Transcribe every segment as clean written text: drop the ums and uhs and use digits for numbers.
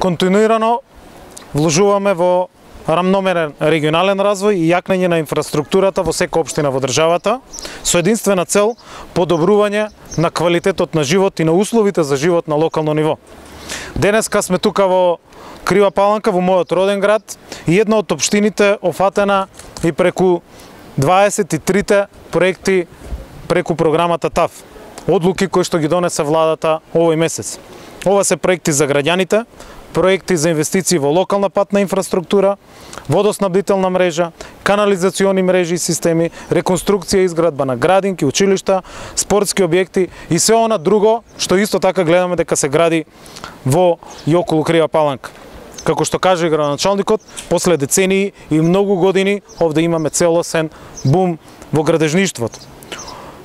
континуирано вложуваме во рамномерен регионален развој и јакнење на инфраструктурата во секоја општина во државата, со единствена цел подобрување на квалитетот на живот и на условите за живот на локално ниво. Денеска сме тука во Крива Паланка, во мојот роден град, и една од општините офатена и преку 23 проекти преку програмата ТАФ. Одлуки кои што ги донесе владата овој месец. Ова се проекти за граѓаните, проекти за инвестиции во локална патна инфраструктура, водоснабдителна мрежа, канализациони мрежи и системи, реконструкција и изградба на градинки, училишта, спортски објекти и се она друго што исто така гледаме дека се гради во и околу Крива Паланка. Како што каже градоначалникот, после децении и многу години овде имаме целосен бум во градежништвото.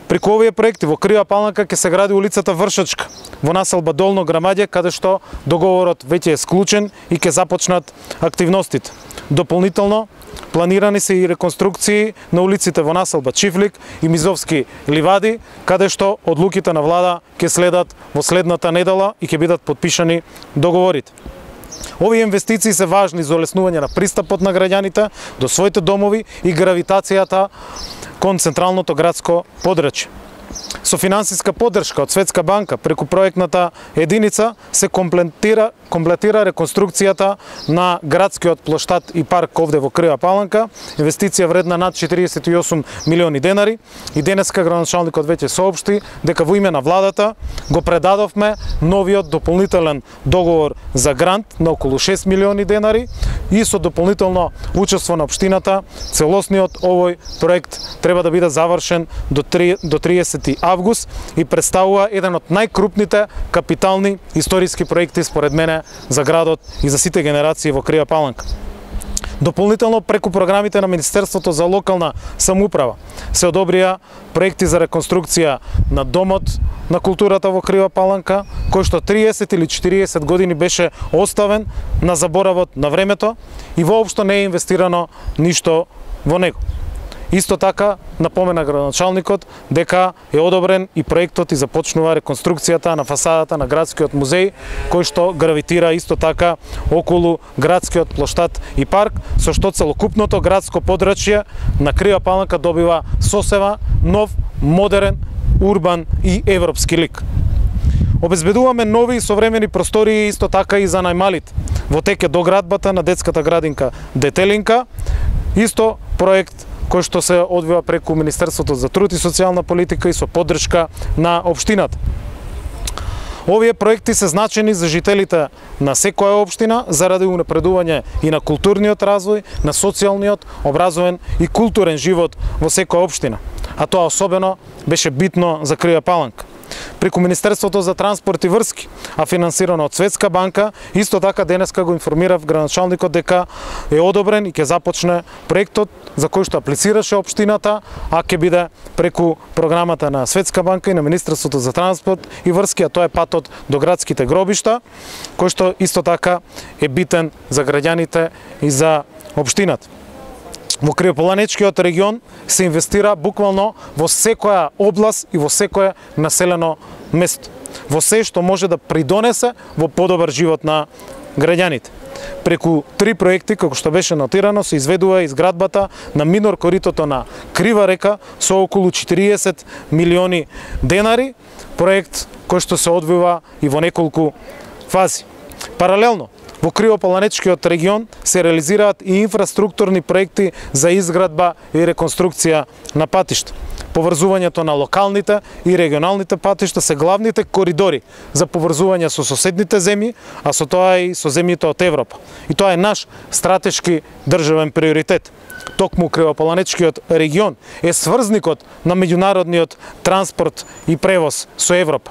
Преку овие проекти во Крива Паланка ќе се гради улицата Вршачка во населба Долно Грамаѓе, каде што договорот веќе е склучен и ќе започнат активностите. Дополнително планирани се и реконструкции на улиците во населба Чифлик и Мизовски ливади, каде што одлуките на влада ќе следат во следната недела и ќе бидат потпишани договорите. Овие инвестиции се важни за олеснување на пристапот на граѓаните до своите домови и гравитацијата кон централното градско подрачје. Со финансиска поддршка од Светска банка преку проектната единица се комплетира реконструкцијата на градскиот плоштад и парк овде во Крива Паланка, инвестиција вредна над 48 милиони денари, и денеска градоначалникот веќе соопшти дека во име на владата го предадовме новиот дополнителен договор за грант на околу 6 милиони денари и со дополнително учество на општината целосниот овој проект треба да биде завршен до 30 август и представува еден од најкрупните капитални историски проекти според мене за градот и за сите генерации во Крива Паланка. Дополнително преку програмите на Министерството за локална самоуправа се одобрија проекти за реконструкција на домот на културата во Крива Паланка, кој што 30 или 40 години беше оставен на заборавот на времето и воопшто не е инвестирано ништо во него. Исто така напомена градоначалникот дека е одобрен и проектот и започнува реконструкцијата на фасадата на градскиот музеј, кој што гравитира исто така околу градскиот плоштад и парк, со што целокупното градско подрачје на Крива Паланка добива сосема нов, модерен, урбан и европски лик. Обезбедуваме нови и современи простории исто така и за најмалите. Во тек е доградбата на детската градинка Детелинка, исто проект кој што се одвива преку Министерството за труд и социјална политика и со поддршка на општината. Овие проекти се значени за жителите на секоја општина заради унапредување и на културниот развој, на социјалниот, образовен и културен живот во секоја општина, а тоа особено беше битно за Крива Паланка. Преку Министерството за транспорт и врски, а финансирано од Светска банка, исто така денеска го информирав градоначалникот дека е одобрен и ќе започне проектот за кој што аплицираше општината, а ќе биде преку програмата на Светска банка и на Министерството за транспорт и врски, а тоа е патот до градските гробишта, кој што исто така е битен за граѓаните и за општината. Во Кривополанечкиот регион се инвестира буквално во секоја област и во секое населено место, во се што може да придонесе во подобар живот на граѓаните. Преку 3 проекти, како што беше нотирано, се изведува изградбата на минор коритото на Крива река со околу 40 милиони денари, проект кој што се одвива и во неколку фази. Паралелно, во Кривополанечкиот регион се реализираат и инфраструктурни проекти за изградба и реконструкција на патишта. Поврзувањето на локалните и регионалните патишта се главните коридори за поврзување со соседните земји, а со тоа и со земјите од Европа. И тоа е наш стратешки државен приоритет. Токму Кривополанечкиот регион е сврзникот на меѓународниот транспорт и превоз со Европа.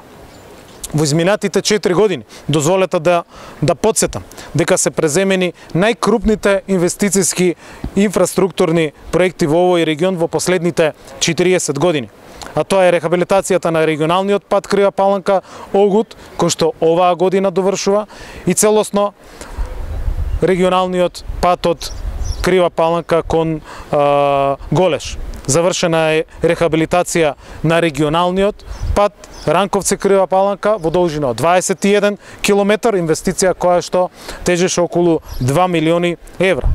Во изминатите 4 години дозволете да подсетам дека се преземени најкрупните инвестициски инфраструктурни проекти во овој регион во последните 40 години. А тоа е рехабилитацијата на регионалниот пат Крива Паланка Огут, кој што оваа година довршува, и целосно регионалниот пат од Крива Паланка кон Голеш. завршена е рехабилитација на регионалниот пат Ранковци Крива Паланка во должина од 21 километар, инвестиција која што тежеше околу 2 милиони евра.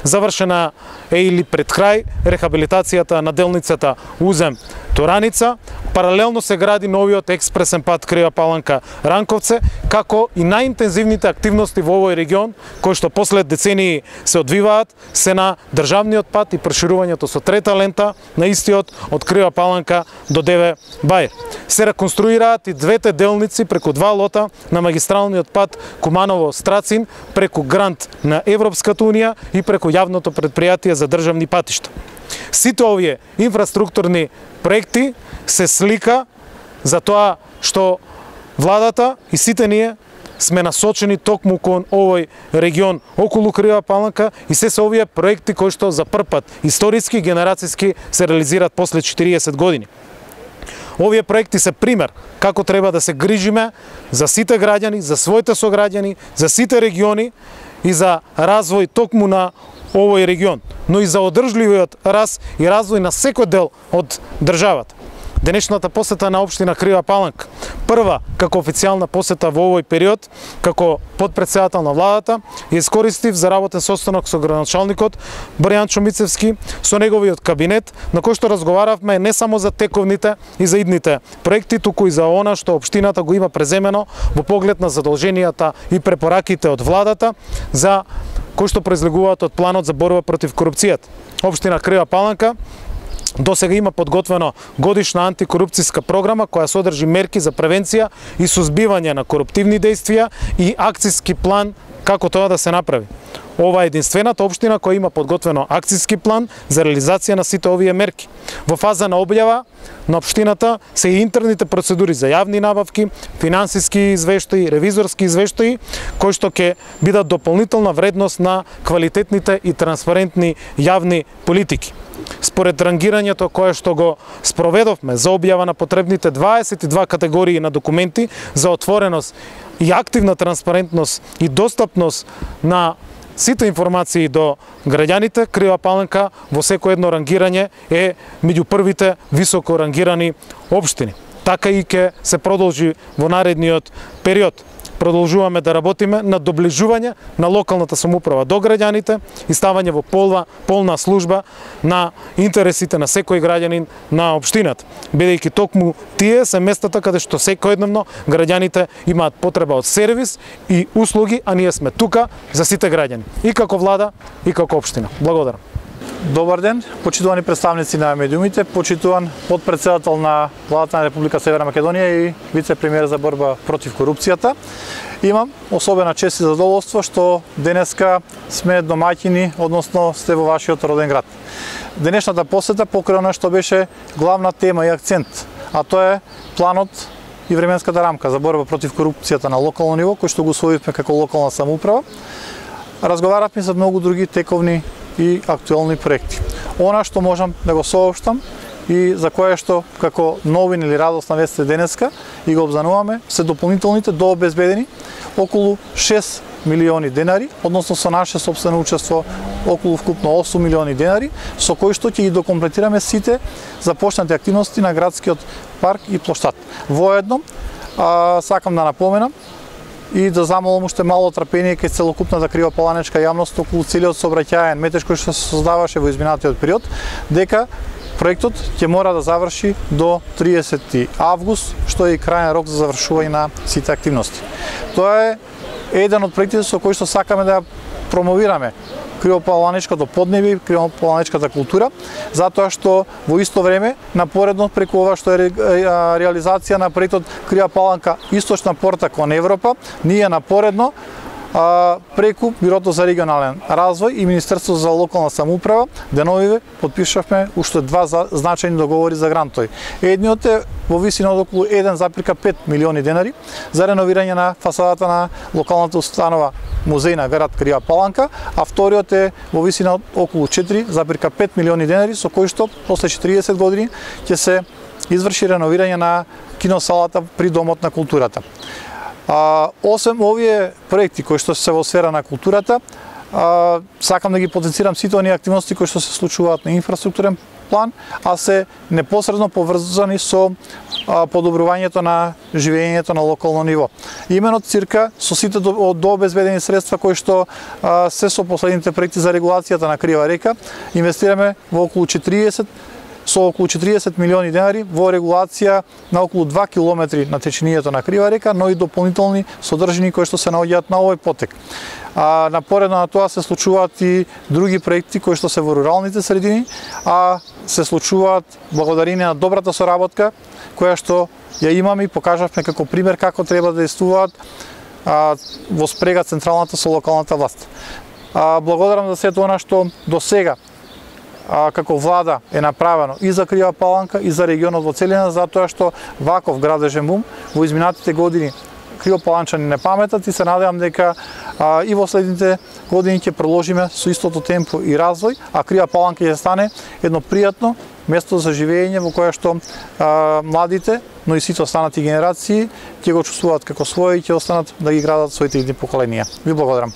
Завршена е или пред крај рехабилитацијата на делницата Узем Тораница. Паралелно се гради новиот експресен пат Крива Паланка Ранковце, како и најинтензивните активности во овој регион, кои што послед децении се одвиваат, се на државниот пат и проширувањето со трета лента на истиот од Крива Паланка до Деве Бајр. Се реконструираат и двете делници преку два лота на магистралниот пат Куманово-Страцин, преку грант на Европската унија и преку јавното предпријатие за државни патишта. Сите овие инфраструктурни проекти се слика за тоа што владата и сите ние сме насочени токму кон овој регион околу Крива Паланка и се овие проекти кои што за прв пат историски и генерацијски се реализираат после 40 години. Овие проекти се пример како треба да се грижиме за сите граѓани, за своите сограѓани, за сите региони и за развој токму на овој регион, но и за одржливиот раст и развој на секој дел од државата. Денешната посета на општина Крива Паланка, прва како официјална посета во овој период, како подпредседател на владата, ја искористив за работен состанок со градоначалникот Боријан Чомицевски, со неговиот кабинет, на кој што разговаравме не само за тековните и за идните проекти, туку и за она што општината го има преземено во поглед на задолженијата и препораките од владата за кои што произлегуваат од планот за борба против корупцијата. Општина Крива Паланка до сега има подготвено годишна антикорупцијска програма која содржи мерки за превенција и сузбивање на коруптивни дејствија и акцијски план како тоа да се направи. Ова е единствената општина која има подготвено акцијски план за реализација на сите овие мерки. Во фаза на објава на општината се и интерните процедури за јавни набавки, финансиски извештаи, ревизорски извештаи, кои што ќе бидат дополнителна вредност на квалитетните и транспарентни јавни политики. Според рангирањето кое што го спроведовме за објава на потребните 22 категории на документи за отвореност и активна транспарентност и достапност на сите информации до граѓаните, Крива Паланка во секој едно рангирање е меѓу првите високо рангирани општини. Така и ќе се продолжи во наредниот период. Продолжуваме да работиме на доближување на локалната самоуправа до граѓаните и ставање во полна служба на интересите на секој граѓанин на општината, бидејќи токму тие се местата каде што секојдневно граѓаните имаат потреба од сервис и услуги, а ние сме тука за сите граѓани, и како влада, и како општина. Благодарам. Добар ден, почитувани представници на медиумите, почитуван подпредседател на владата на Република Северна Македонија и вице-премиер за борба против корупцијата. Имам особена чест и задоволство што денеска сме домаќини, односно сте во вашиот роден град. Денешната посета покрај она што беше главна тема и акцент, а тоа е планот и временската рамка за борба против корупцијата на локално ниво, кој што го усвоивме како локална самоуправа. Разговаравме за многу други тековни и актуелни проекти. Она што можам да го соопштам и за кое што како новин или радосна вест денеска и го обзнануваме се дополнителните дообезбедени околу 6 милиони денари, односно со наше сопствено учество околу вкупно 8 милиони денари, со кои што ќе ги докомплетираме сите започнати активности на градскиот парк и плоштад. Воедно сакам да напоменам и да замолам уште мало трпение кај целокупната кривопаланечка јавност околу целиот сообраќајен метеж кој што се создаваше во изминатиот период, дека проектот ќе мора да заврши до 30 август, што е и крајен рок за завршување на сите активности. Тоа е еден од проектите со кои што сакаме да промовираме кривопаланечкото поднебје и кривопаланечката култура, затоа што во исто време напоредно преку ова што е реализација на проектот Крива Паланка источна порта кон Европа, ние напоредно преку Бирото за регионален развој и Министерството за локална самоуправа деновиве подпишавме уште два значајни договори за грантови. Едниот е во висина од околу 1,5 милиони денари за реновирање на фасадата на локалната установа музеј на град Крива Паланка, а вториот е во висина од околу 4,5 милиони денари со кој што после 40 години ќе се изврши реновирање на киносалата при Домот на културата. Освен овие проекти кои што се во сфера на културата, сакам да ги потенцирам сите оние активности кои што се случуваат на инфраструктурен план, а се непосредно поврзани со подобрувањето на живеењето на локално ниво. Именно цирка со сите дообезбедени средства кои што се со последните проекти за регулацијата на Крива река, инвестираме во околу 40 милиони денари во регулација на околу 2 километри на течението на Крива река, но и дополнителни содржини кои што се наоѓаат на овој потек. Напоредно на тоа се случуваат и други проекти кои што се во руралните средини, а се случуваат благодарение на добрата соработка која што ја имаме и покажавме како пример како треба да действуваат во спрега централната со локалната власт. Благодарам за сето она што до сега како влада е направено и за Крива Паланка и за регионот во целина, затоа што ваков градежен бум во изминатите години кривопаланчани не паметат и се надевам дека и во следните години ќе продолжиме со истото темпо и развој, а Крива Паланка ќе стане едно пријатно место за живење во кое што младите, но и сите останати генерации ќе го чувствуваат како свој и ќе останат да ги градат своите идни поколенија. Ви благодарам.